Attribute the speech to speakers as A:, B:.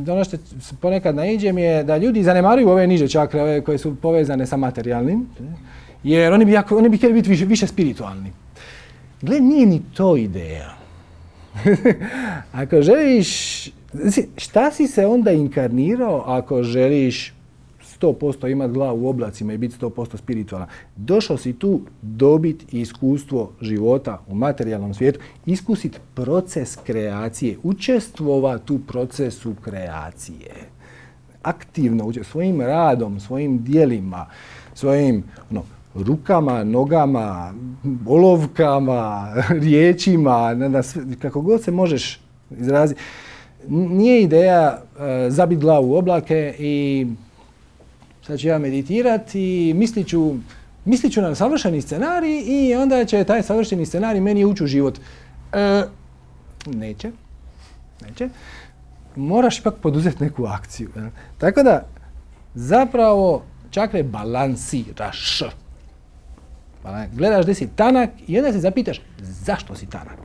A: ono što ponekad naiđem je da ljudi zanemaruju ove niže čakre, ove koje su povezane sa materijalnim, jer oni bi htjeli biti više spiritualni. Gle, nije ni to ideja. Ako želiš, šta si se onda inkarnirao ako želiš 100% imati glavu u oblacima i biti 100% spiritualan? Došao si tu dobiti iskustvo života u materijalnom svijetu, iskusiti proces kreacije, učestvovati u procesu kreacije. Aktivno, svojim radom, svojim djelima, svojim rukama, nogama, olovkama, riječima, kako god se možeš izraziti. Nije ideja zabiti glavu u oblake i sad ću ja meditirati i mislit ću na savršeni scenarij i onda će taj savršeni scenarij meni ući u život. Neće. Moraš ipak poduzeti neku akciju. Tako da, zapravo, čakre balansiraš. Gledaš gdje si tanak i onda se zapitaš zašto si tanak.